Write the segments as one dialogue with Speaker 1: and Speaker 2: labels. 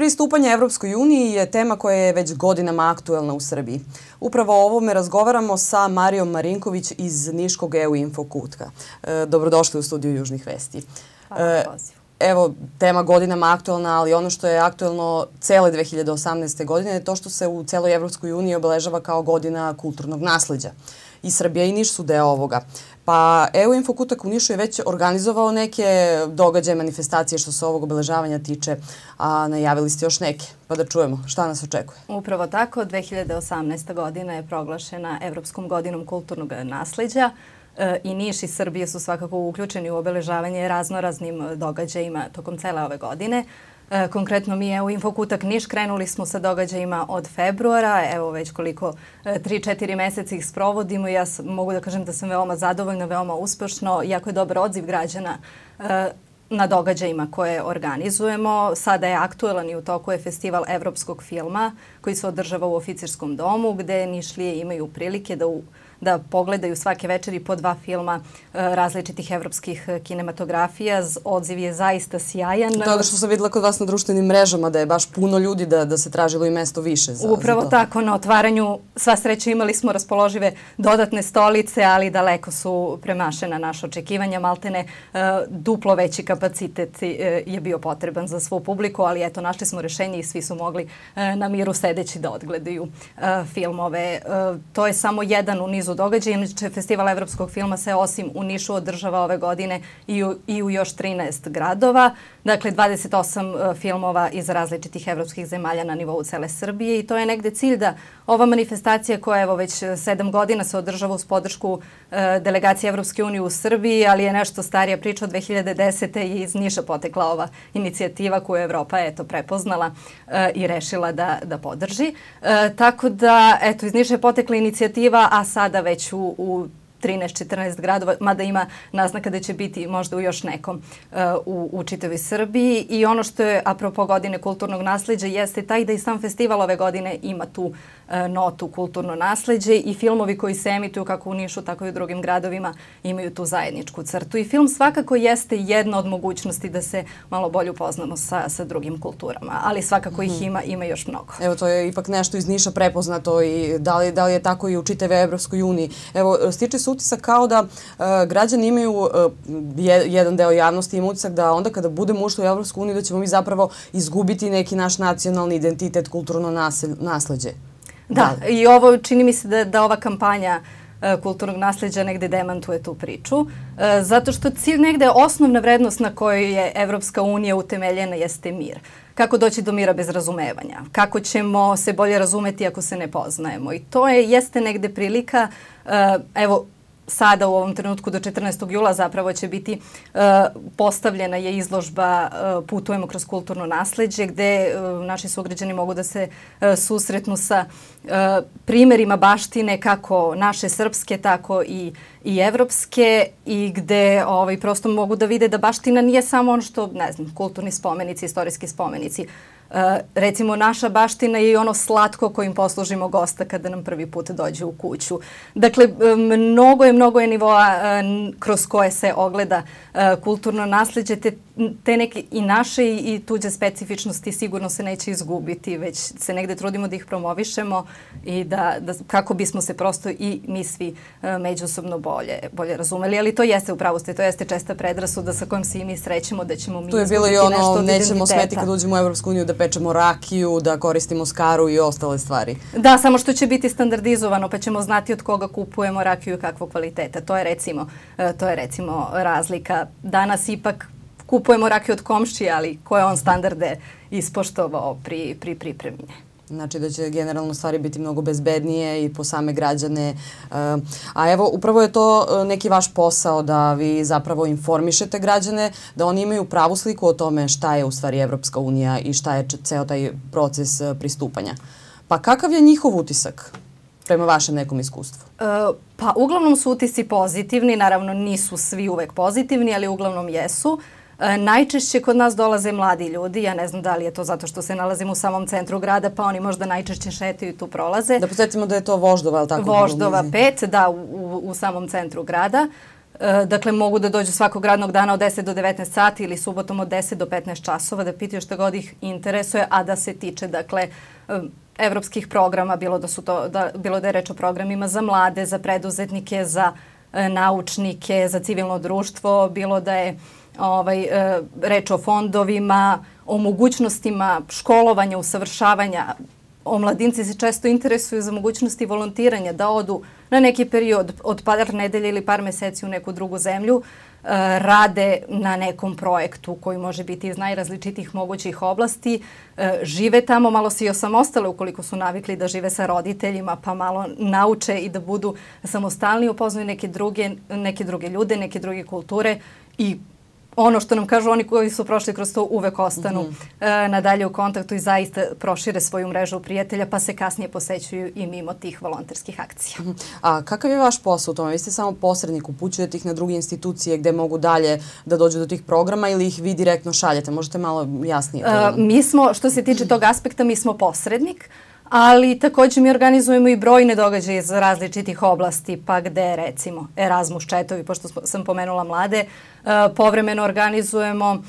Speaker 1: Pristupanje Evropskoj uniji je tema koja je već godinama aktuelna u Srbiji. Upravo o ovome razgovaramo sa Marijom Marinković iz Niškog EU Info kutka. Dobrodošli u studiju Južnih vesti.
Speaker 2: Hvala na pozivu.
Speaker 1: Evo, tema godinama aktuelna, ali ono što je aktuelno cele 2018. godine je to što se u celoj Evropskoj uniji obeležava kao godina kulturnog nasleđa. I Srbija i Niš su deo ovoga. Pa EU Info kutak u Nišu je već organizovao neke događaje, manifestacije što se ovog obeležavanja tiče, a najavili ste još neke. Pa da čujemo šta nas očekuje.
Speaker 2: Upravo tako, 2018. godina je proglašena Evropskom godinom kulturnog nasleđa. I Niš i Srbija su svakako uključeni u obeležavanje raznoraznim događajima tokom cele ove godine. Konkretno mi u Info kutak Niš krenuli smo sa događajima od februara, evo već koliko 3-4 meseca ih sprovodimo i ja mogu da kažem da sam veoma zadovoljna, veoma uspešno, jako je dobar odziv građana na događajima koje organizujemo. Sada je aktuelan i u toku je festival evropskog filma koji se održava u Oficirskom domu gde Nišlije imaju prilike da pogledaju svake večeri po 2 filma različitih evropskih kinematografija. Odziv je zaista sjajan.
Speaker 1: To je što sam videla kod vas na društvenim mrežama, da je baš puno ljudi da se tražilo i mesto više za to.
Speaker 2: Upravo tako, na otvaranju sva sreća imali smo raspoložive dodatne stolice, ali daleko su premašena naša očekivanja. Maltene duplo veći kapacitet je bio potreban za svu publiku, ali eto, našli smo rešenje i svi su mogli na miru sedeći da odgledaju filmove. To je samo jedan u nizu događaja. Inače, Festival evropskog filma se osim u Nišu održava ove godine i u još 13 gradova. Dakle, 28 filmova iz različitih evropskih zemalja na nivou cele Srbije i to je negde cilj da ova manifestacija koja evo već 7 godina se održava uz podršku delegacije Evropske unije u Srbiji, ali je nešto starija priča od 2010. i iz Niša potekla ova inicijativa koju je Evropa prepoznala i rešila da podrži. Tako da, eto, iz Niša je potekla inicijativa, a sada već u 13-14 gradova, mada ima naznaka da će biti možda u još nekom u čitavoj Srbiji. I ono što je, apropo godine kulturnog nasleđa, jeste taj da i sam festival ove godine ima tu notu kulturno nasleđe i filmovi koji se emituju kako u Nišu, tako i u drugim gradovima imaju tu zajedničku crtu. I film svakako jeste jedna od mogućnosti da se malo bolje upoznamo sa drugim kulturama, ali svakako ih ima još mnogo.
Speaker 1: Evo, to je ipak nešto iz Niša prepoznato i da li je tako i u čitavoj Evropskoj uniji. Evo, stiče se utisak kao da građani imaju, jedan deo javnosti ima utisak da onda kada budemo ušli u Evropsku uniju da ćemo mi zapravo izgubiti neki naš nacionalni identitet, kulturno nasleđe.
Speaker 2: Da, i ovo čini mi se da ova kampanja kulturnog nasleđa negde demantuje tu priču, zato što cilj negde osnovna vrednost na kojoj je Evropska unija utemeljena jeste mir. Kako doći do mira bez razumevanja? Kako ćemo se bolje razumeti ako se ne poznajemo? I to jeste negde prilika, evo, sada u ovom trenutku do 14. jula zapravo će biti postavljena je izložba Putujemo kroz kulturno nasleđe gde naši sugrađani mogu da se susretnu sa primerima baštine kako naše srpske, tako i evropske i gde prosto mogu da vide da baština nije samo ono što, ne znam, kulturni spomenici, istorijski spomenici. Recimo, naša baština je i ono slatko kojim poslužimo gosta kada nam prvi put dođe u kuću. Dakle, mnogo je nivoa kroz koje se ogleda kulturno nasleđe, te neke i naše i tuđe specifičnosti sigurno se neće izgubiti, već se negde trudimo da ih promovišemo i da kako bismo se prosto i mi svi međusobno bolje razumeli. Ali to jeste u pravosti, to jeste česta predrasuda sa kojom se i mi srećemo da ćemo mi izgubiti nešto od identiteta. Tu je bilo i ono, nećemo smeti kad uđemo u Evropsku uniju da pečemo rakiju, da koristimo skaru i ostale stvari. Da, samo što će biti standardizovano, pa ćemo znati od koga kupujemo rakiju i kakvog kvaliteta. To je recimo razlika. Danas ipak kupujemo rakiju od komšije, ali koje on standarde ispoštovao pri pripremi. Znači da će generalno stvari biti mnogo bezbednije i po same građane. A evo, upravo je to neki vaš posao da vi zapravo informišete građane, da oni imaju pravu sliku o tome šta je u stvari Evropska unija i šta je ceo taj proces pristupanja. Pa kakav je njihov utisak prema vašem nekom iskustvu? Pa uglavnom su utisci pozitivni, naravno nisu svi uvek pozitivni, ali uglavnom jesu. Najčešće kod nas dolaze mladi ljudi, ja ne znam da li je to zato što se nalazimo u samom centru grada, pa oni možda najčešće šetaju i tu prolaze.
Speaker 1: Da podsjetimo da je to Voždova, je li tako?
Speaker 2: Voždova 5, da, u samom centru grada. Dakle, mogu da dođu svakog radnog dana od 10 do 19 sati ili subotom od 10 do 15 časova da pitaju šta god ih interesuje, a da se tiče, dakle, evropskih programa, bilo da je reč o programima za mlade, za preduzetnike, za naučnike, za civilno društvo, bilo da je reč o fondovima, o mogućnostima školovanja, usavršavanja. Omladinci se često interesuju za mogućnosti volontiranja, da odu na neki period od par nedelja ili par meseci u neku drugu zemlju, rade na nekom projektu koji može biti iz najrazličitijih mogućih oblasti, žive tamo, malo se i osamostale ukoliko su navikli da žive sa roditeljima, pa malo nauče i da budu samostalni, upoznaju neke druge ljude, neke druge kulture i ono što nam kažu oni koji su prošli kroz to uvek ostanu nadalje u kontaktu i zaista prošire svoju mrežu prijatelja, pa se kasnije posećuju i mimo tih volonterskih akcija.
Speaker 1: A kakav je vaš posao u tome? Vi ste samo posrednik, upućujete ih na druge institucije gde mogu dalje da dođu do tih programa ili ih vi direktno šaljete? Možete malo jasnije?
Speaker 2: Mi smo, što se tiče tog aspekta, mi smo posrednik, ali također mi organizujemo i brojne događaje iz različitih oblasti, pa gde recimo Erasmus četovi, pošto sam pomenula mlade, povremeno organizujemo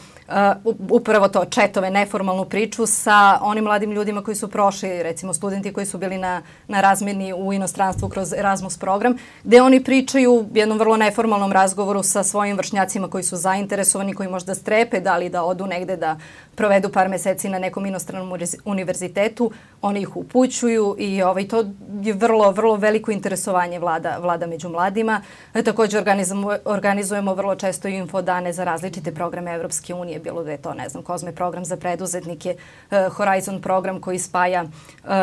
Speaker 2: upravo to, četove, neformalnu priču sa onim mladim ljudima koji su prošli, recimo studenti koji su bili na razmjeni u inostranstvu kroz Erasmus program, gde oni pričaju u jednom vrlo neformalnom razgovoru sa svojim vršnjacima koji su zainteresovani, koji možda strepe da li da odu negde da provedu par meseci na nekom inostranom univerzitetu. Oni ih upućuju i to je vrlo veliko interesovanje vlada među mladima. Također organizujemo vrlo često infodane za različite programe Evropske unije, bilo da je to, ne znam, Kozme program za preduzetnike, Horizon program koji spaja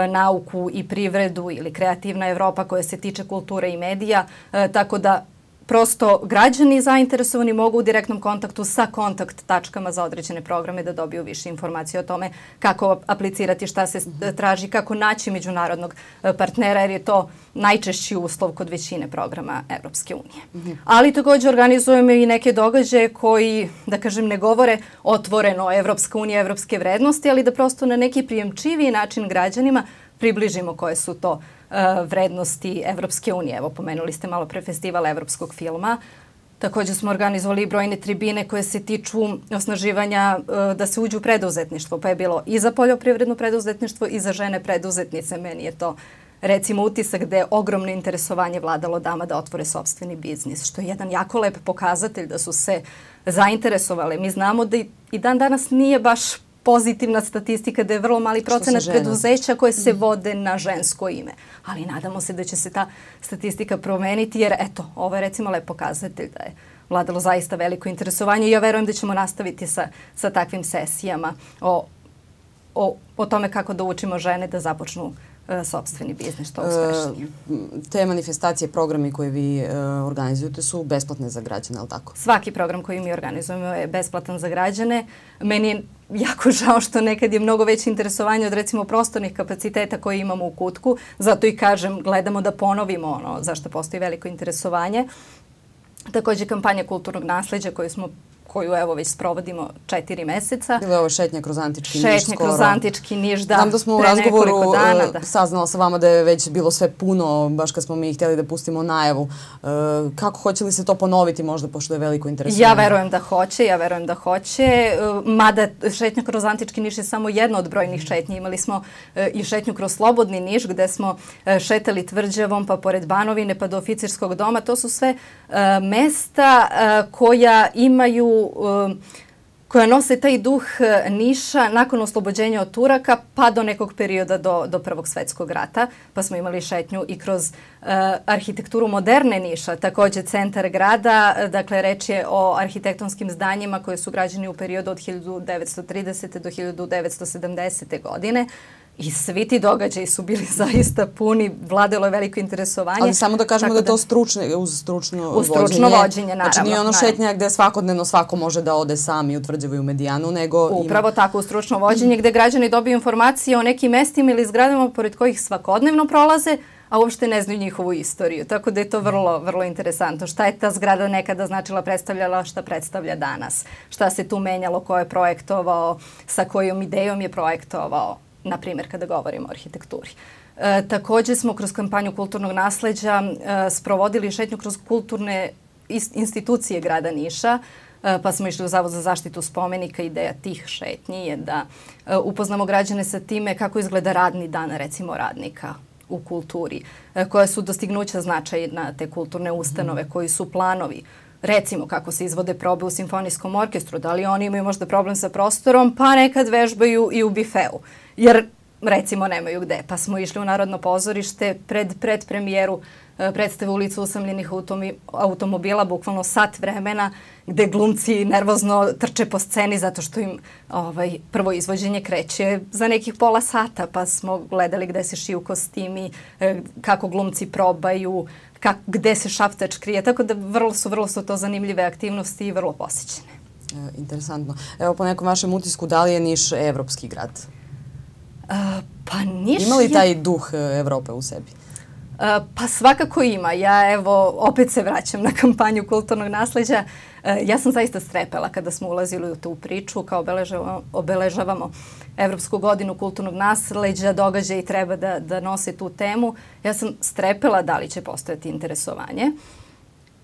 Speaker 2: nauku i privredu ili Kreativna Evropa koja se tiče kulture i medija, tako da prosto građani zainteresovani mogu u direktnom kontaktu sa kontakt tačkama za određene programe da dobiju više informacije o tome kako aplicirati, šta se traži, kako naći međunarodnog partnera, jer je to najčešći uslov kod većine programa Evropske unije. Ali također organizujemo i neke događaje koji, da kažem, ne govore otvoreno Evropska unija, evropske vrednosti, ali da prosto na neki prijemčiviji način građanima približimo koje su to vrednosti Evropske unije. Evo, pomenuli ste malo pre festival evropskog filma. Također smo organizovali brojne tribine koje se tiču osnaživanja da se uđu u preduzetništvo, pa je bilo i za poljoprivredno preduzetništvo i za žene preduzetnice. Meni je to, recimo, utisak gde je ogromno interesovanje vladalo dama da otvore sopstveni biznis, što je jedan jako lep pokazatelj da su se zainteresovale. Mi znamo da i dan danas nije baš pozitivna statistika, da je vrlo mali procenat preduzeća koje se vode na žensko ime. Ali nadamo se da će se ta statistika promeniti, jer eto, ovo je recimo lep pokazatelj da je vladalo zaista veliko interesovanje i ja verujem da ćemo nastaviti sa takvim sesijama o tome kako da učimo žene da započnu sopstveni biznis, što uspešnije.
Speaker 1: Te manifestacije, programi koje vi organizujete su besplatne za građane, ali tako?
Speaker 2: Svaki program koji mi organizujemo je besplatan za građane. Meni je jako žao što nekad je mnogo veće interesovanje od recimo prostornih kapaciteta koje imamo u Kutku. Zato i kažem, gledamo da ponovimo ono zašto postoji veliko interesovanje. Također kampanja kulturnog nasleđa koju evo već sprovodimo 4 meseca.
Speaker 1: Bilo je ovo šetnja kroz Antički Niš skoro.
Speaker 2: Šetnja kroz Antički Niš, da.
Speaker 1: Znam da smo u razgovoru saznala sa vama da je već bilo sve puno, baš kad smo mi htjeli da pustimo najavu. Kako, hoće li se to ponoviti možda, pošto je veliko interesovanje?
Speaker 2: Ja verujem da hoće. Mada šetnja kroz Antički Niš je samo jedna od brojnih šetnji. Imali smo i šetnju kroz Slobodni Niš gde smo šetali tvrđavom pa pored Banovine pa do Oficirskog doma. To su sve mesta koja imaju koja nose taj duh Niša nakon oslobođenja od Turaka pa do nekog perioda do Prvog svjetskog rata. Pa smo imali šetnju i kroz arhitekturu moderne Niša, također centar grada. Dakle, reč je o arhitektonskim zdanjima koje su građeni u periodu od 1930. do 1970. godine. I svi ti događaji su bili zaista puni, vladalo je veliko interesovanje.
Speaker 1: Ali samo da kažemo da je to uz stručno vođenje.
Speaker 2: Naravno.
Speaker 1: Znači nije ono šetnja gde svakodnevno svako može da ode sam i u Tvrđavu i u Medijanu, nego
Speaker 2: upravo tako, uz stručno vođenje gde građani dobiju informacije o nekim mestima ili zgradama pored kojih svakodnevno prolaze, a uopšte ne znaju njihovu istoriju. Tako da je to vrlo interesantno. Šta je ta zgrada nekada značila, predstavljala, šta predstavlja danas? Šta se tu menjalo, ko je projektovao, sa kojom idejom je projektovao? Na primjer, kada govorimo o arhitekturi. Također smo kroz kampanju kulturnog nasleđa sprovodili šetnju kroz kulturne institucije grada Niša, pa smo išli u Zavod za zaštitu spomenika. Ideja tih šetnji je da upoznamo građane sa time kako izgleda radni dan, recimo, radnika u kulturi, koja su dostignuća značajna te kulturne ustanove, koji su planovi. Recimo kako se izvode probe u simfonijskom orkestru, da li oni imaju možda problem sa prostorom, pa nekad vežbaju i u bifeu. Jer recimo nemaju gde. Pa smo išli u Narodno pozorište pred premijeru predstave Ulica usamljenih automobila, bukvalno sat vremena, gde glumci nervozno trče po sceni zato što im prvo izvođenje kreće za nekih pola sata, pa smo gledali gde se šiju kostimi, kako glumci probaju, gde se šaptač krije, tako da vrlo su to zanimljive aktivnosti i vrlo posjećene.
Speaker 1: Interesantno. Evo, po nekom vašem utisku, da li je Niš evropski grad?
Speaker 2: Pa Niš
Speaker 1: ima li taj duh Evrope u sebi?
Speaker 2: Pa svakako ima. Ja evo opet se vraćam na kampanju kulturnog nasleđa. Ja sam zaista strepela kada smo ulazili u tu priču, kao obeležavamo Evropsku godinu kulturnog nasleđa, događaji treba da nose tu temu. Ja sam strepela da li će postojati interesovanje.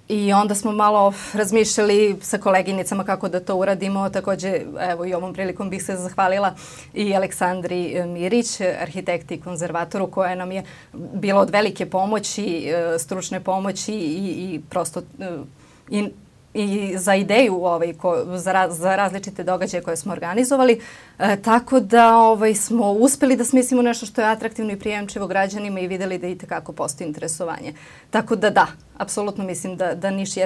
Speaker 2: I onda smo malo razmišljali sa koleginicama kako da to uradimo. Takođe, evo i ovom prilikom bih se zahvalila i Aleksandri Mirić, arhitekti i konzervatoru, koja nam je bila od velike pomoći, stručne pomoći i prosto i za ideju za različite događaje koje smo organizovali. Tako da smo uspeli da smislimo nešto što je atraktivno i prijemčivo građanima i videli da itekako postoji interesovanje. Tako da, apsolutno mislim da Niš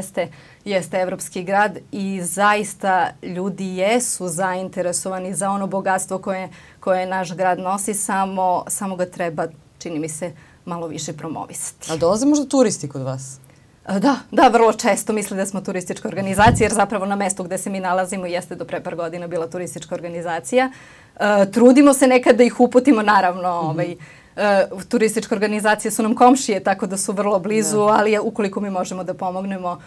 Speaker 2: jeste evropski grad i zaista ljudi jesu zainteresovani za ono bogatstvo koje naš grad nosi, samo ga treba, čini mi se, malo više promovisati.
Speaker 1: A dolaze možda turisti kod vas?
Speaker 2: Da, vrlo često misle da smo turistička organizacija, jer zapravo na mestu gde se mi nalazimo jeste do pre par godina bila turistička organizacija. Trudimo se nekad da ih uputimo, naravno, turističke organizacije su nam komšije, tako da su vrlo blizu, ali ukoliko mi možemo da pomognemo,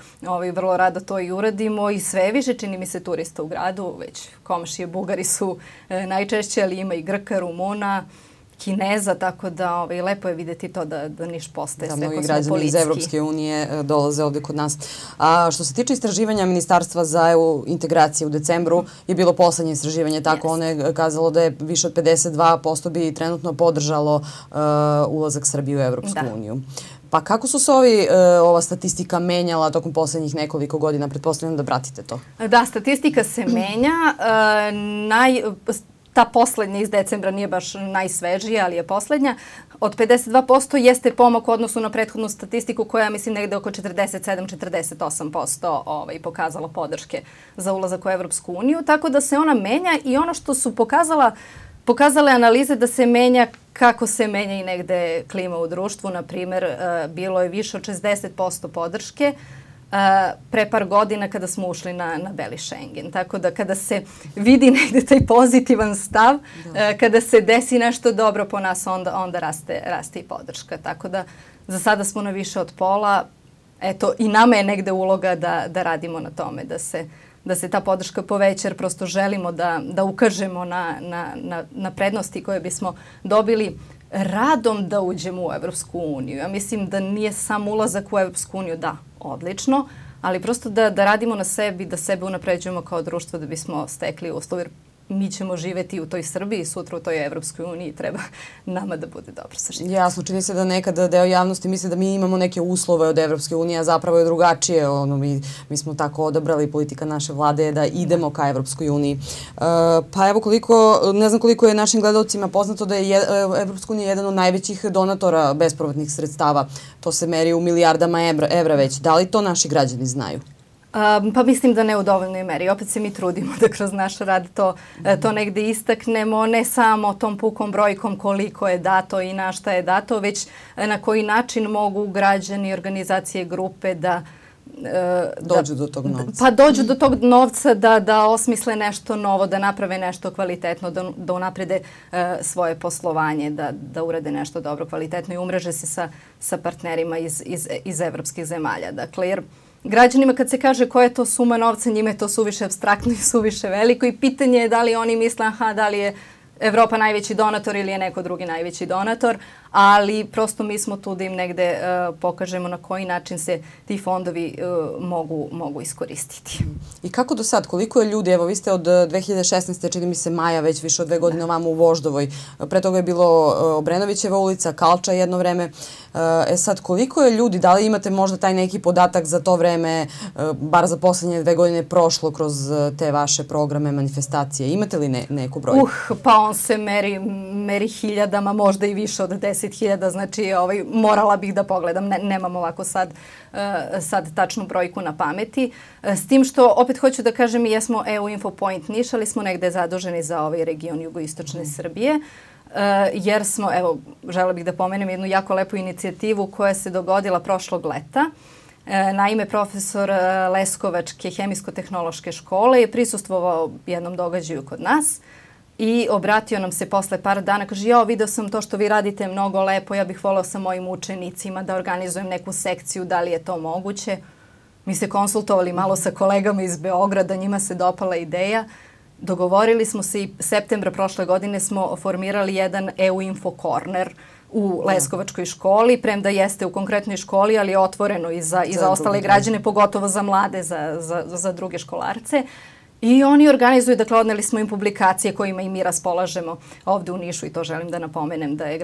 Speaker 2: vrlo rado to i uradimo i sve više čini mi se turista u gradu, već komšije Bugari su najčešće, ali ima i Grka, Rumuna, Kineza, tako da lepo je vidjeti to da Niš postaje sve kosmopolitski.
Speaker 1: Da, mnogi građani iz Evropske unije dolaze ovdje kod nas. A što se tiče istraživanja Ministarstva za EU integracije u decembru, je bilo poslednje istraživanje, tako ono je kazalo da je više od 52% bi trenutno podržalo ulazak Srbije u Evropsku uniju. Pa kako su se ova statistika menjala tokom posljednjih nekoliko godina? Pretpostavljam da pratite to.
Speaker 2: Da, statistika se menja. Ta poslednja iz decembra nije baš najsvežija, ali je poslednja. Od 52% jeste pomak u odnosu na prethodnu statistiku koja, mislim, negde oko 47-48% pokazala podrške za ulazak u Evropsku uniju. Tako da se ona menja i ono što su pokazale analize da se menja kako se menja i negde klima u društvu. Naprimer, bilo je više od 60% podrške pre par godina kada smo ušli na Beli Schengen. Tako da kada se vidi negde taj pozitivan stav, kada se desi nešto dobro po nas, onda raste i podrška. Tako da za sada smo na više od pola. Eto, i nama je negde uloga da radimo na tome, da se ta podrška poveća, jer prosto želimo da ukažemo na prednosti koje bismo dobili radom da uđemo u Evropsku uniju. Ja mislim da nije sam ulazak u Evropsku uniju, da, odlično, ali prosto da radimo na sebi, da sebe unapređujemo kao društvo da bismo stekli uslove. Mi ćemo živeti u toj Srbiji, sutra u toj Evropskoj uniji, treba nama da bude dobro sa životom.
Speaker 1: Jasno, čini se da nekada deo javnosti misli da mi imamo neke uslove od Evropske unije, a zapravo je drugačije. Mi smo tako odabrali, politika naše vlade je da idemo ka Evropskoj uniji. Pa evo ne znam koliko je našim gledalcima poznato da je Evropska unija jedan od najvećih donatora bespovratnih sredstava. To se meri u milijardama evra već. Da li to naši građani znaju?
Speaker 2: Pa mislim da ne u dovoljnoj meri. Opet se mi trudimo da kroz naš rad to negde istaknemo, ne samo tom pukom brojkom koliko je dato i na šta je dato, već na koji način mogu građani, organizacije, grupe da
Speaker 1: dođu do tog novca.
Speaker 2: Pa dođu do tog novca da osmisle nešto novo, da naprave nešto kvalitetno, da unaprede svoje poslovanje, da urade nešto dobro, kvalitetno i umreže se sa partnerima iz evropskih zemalja. Dakle, jer građanima kad se kaže koja je to suma novca, njima je to suviše apstraktno i suviše veliko i pitanje je da li oni misle, da li je Evropa najveći donator ili je neko drugi najveći donator, ali prosto mi smo tu da im negde pokažemo na koji način se ti fondovi mogu iskoristiti.
Speaker 1: I kako do sad? Koliko je ljudi? Evo, vi ste od 2016. čini mi se maja, već više od 2 godine ovamo u Voždovoj. Pre toga je bilo Obrenovićeva ulica, Kalča jedno vreme. Sad, koliko je ljudi? Da li imate možda taj neki podatak za to vreme, bar za poslednje 2 godine prošlo kroz te vaše programe, manifestacije? Imate li neku brojku?
Speaker 2: Pa on se meri hiljadama, možda i više od 10.000, znači morala bih da pogledam, nemam ovako sad tačnu brojku na pameti. S tim što, opet hoću da kažem, mi jesmo EU Infopoint Niš, ali smo negde zaduženi za ovaj region jugoistočne Srbije, jer smo, evo, želela bih da pomenem jednu jako lepu inicijativu koja se dogodila prošlog leta. Naime, profesor Leskovačke hemijsko-tehnološke škole je prisustvovao jednom događaju kod nas i obratio nam se posle par dana, kaže, ja vidio sam to što vi radite mnogo lepo, ja bih volao sa mojim učenicima da organizujem neku sekciju, da li je to moguće. Mi se konsultovali malo sa kolegama iz Beograda, njima se dopala ideja. Dogovorili smo se i septembra prošle godine smo formirali jedan EU Info Corner u Leskovačkoj školi, premda jeste u konkretnoj školi, ali je otvoreno i za ostale građane, pogotovo za mlade, za druge školarce. I oni organizuju, dakle, odneli smo im publikacije kojima i mi raspolažemo ovde u Nišu i to želim da napomenem da je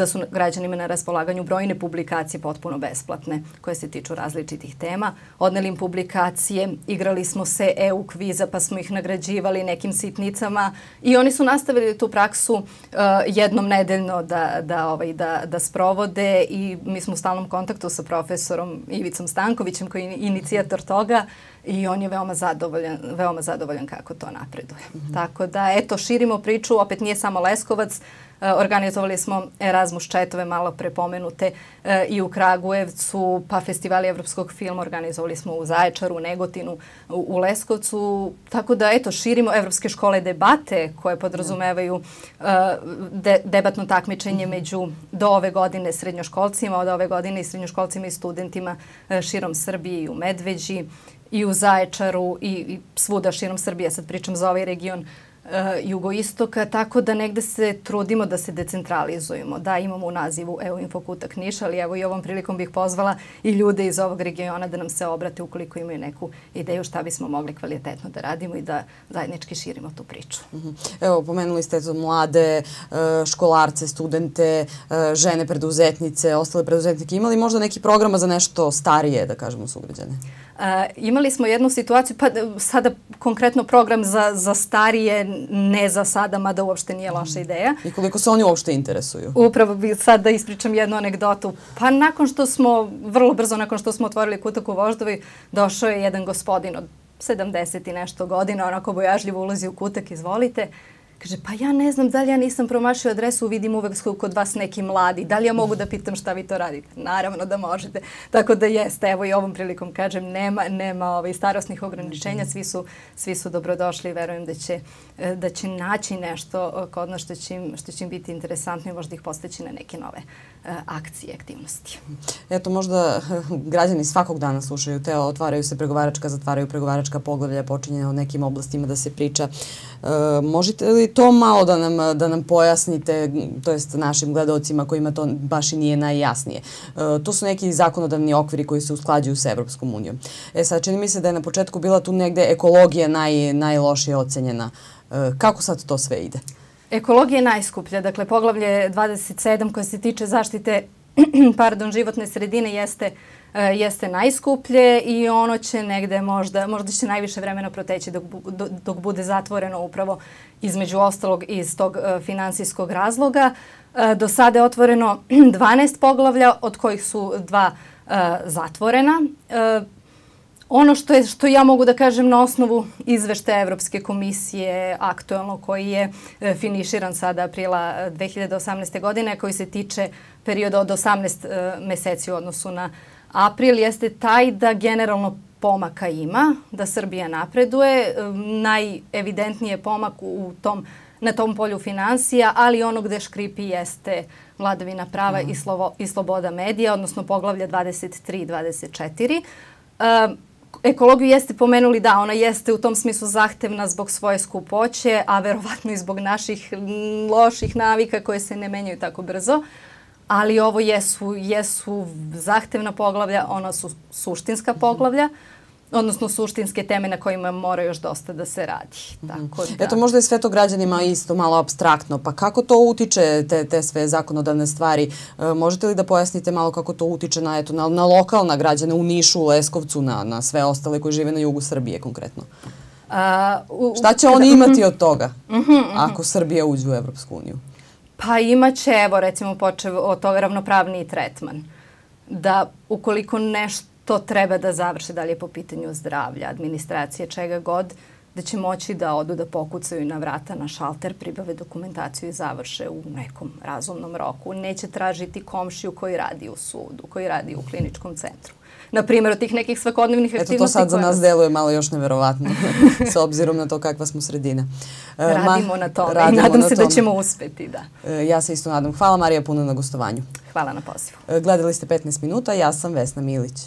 Speaker 2: su građanima na raspolaganju brojne publikacije potpuno besplatne koje se tiču različitih tema. Odneli im publikacije, igrali smo se EU kviza pa smo ih nagrađivali nekim sitnicama i oni su nastavili tu praksu jednom nedeljno da sprovode i mi smo u stalnom kontaktu sa profesorom Ivicom Stankovićem koji je inicijator toga i on je veoma zadovoljan kako to napreduje. Tako da, eto, širimo priču, opet nije samo Leskovac, organizovali smo Erasmus chatove, malo prepomenute, i u Kragujevcu, pa festivali evropskog filma organizovali smo u Zaječaru, u Negotinu, u Leskovcu, tako da, eto, širimo evropske škole debate koje podrazumevaju debatno takmičenje do ove godine srednjoškolcima, od ove godine i srednjoškolcima i studentima širom Srbije i u Medveđi, i u Zaječaru i svuda širom Srbije, sad pričam za ovaj region jugoistoka, tako da negde se trudimo da se decentralizujemo. Da, imamo u nazivu EU Infokutak Niš, ali evo i ovom prilikom bih pozvala i ljude iz ovog regiona da nam se obrate ukoliko imaju neku ideju šta bismo mogli kvalitetno da radimo i da zajednički širimo tu priču.
Speaker 1: Evo, pomenuli ste mlade, školarce, studente, žene preduzetnice, ostale preduzetnike. Imali možda neki programa za nešto starije, da kažemo, sugrađane?
Speaker 2: Imali smo jednu situaciju, pa sada konkretno program za starije, ne za sada, mada uopšte nije loša ideja.
Speaker 1: I koliko se oni uopšte interesuju?
Speaker 2: Upravo bih sad da ispričam jednu anegdotu. Pa vrlo brzo nakon što smo otvorili kutak u Voždovoj, došao je jedan gospodin od 70 i nešto godina, onako bojažljivo ulazi u kutak, izvolite. Kaže, pa ja ne znam da li ja nisam promašio adresu, vidim uvek kod vas neki mladi. Da li ja mogu da pitam šta vi to radite? Naravno da možete. Tako da jeste, evo i ovom prilikom kažem, nema starosnih ograničenja, svi su dobrodošli i verujem da će naći nešto kod nas što će im biti interesantno i možda ih posteći na neke nove akcije, aktivnosti.
Speaker 1: Eto, možda građani svakog dana slušaju otvaraju se pregovaračka, zatvaraju pregovaračka poglavlja, počinje o nekim oblastima da se priča. Možete li to malo da nam pojasnite, to jest našim gledalcima kojima to baš i nije najjasnije? To su neki zakonodavni okviri koji se usklađuju sa Evropskom unijom. Sad, čini mi se da je na početku bila tu negde ekologija najlošije ocenjena. Kako sad to sve ide?
Speaker 2: Ekologija je najskuplja. Dakle, poglavlje 27 koje se tiče zaštite životne sredine jeste najskuplje i ono će negde možda će najviše vremena proteći dok bude zatvoreno upravo između ostalog iz tog finansijskog razloga. Do sada je otvoreno 12 poglavlja, od kojih su 2 zatvorena. Ono što ja mogu da kažem na osnovu izveštaja Evropske komisije aktuelno koji je finiširan sada aprila 2018. godine, koji se tiče perioda od 18 meseci u odnosu na april, jeste taj da generalno pomaka ima, da Srbija napreduje. Najevidentniji je pomak na tom polju finansija, ali ono gde škripi jeste vladavina prava i sloboda medija, odnosno poglavlja 23 i 24. Ekologiju jeste pomenuli, da, ona jeste u tom smislu zahtevna zbog svoje skupoće, a verovatno i zbog naših loših navika koje se ne menjaju tako brzo. Ali ovo jesu zahtevna poglavlja, ona su suštinska poglavlja, odnosno suštinske teme na kojima mora još dosta da se radi. Tako da...
Speaker 1: Eto, možda je sve to građanima isto malo apstraktno, pa kako to utiče te sve zakonodavne stvari? Možete li da pojasnite malo kako to utiče na lokalna građana u Nišu, u Leskovcu, na sve ostale koji žive na jugu Srbije konkretno? Šta će oni imati od toga ako Srbija uđe u Evropsku uniju?
Speaker 2: Pa imaće, evo recimo počev od toga ravnopravniji tretman. Da ukoliko nešto treba da završe, da li je po pitanju zdravlja, administracije, čega god, da će moći da odu da pokucaju na vrata, na šalter, pribave dokumentaciju i završe u nekom razumnom roku. Neće tražiti komšiju koji radi u sudu, koji radi u kliničkom centru. Na primjer, od tih nekih svakodnevnih aktivnosti...
Speaker 1: Eto, to sad za nas deluje malo još neverovatno, s obzirom na to kakva smo sredina.
Speaker 2: Radimo na tome i nadam se da ćemo uspeti, da.
Speaker 1: Ja se isto nadam. Hvala, Marija, puno na gostovanju.
Speaker 2: Hvala na pozivu.
Speaker 1: Gledali ste 15 minuta, ja sam Vesna Milić.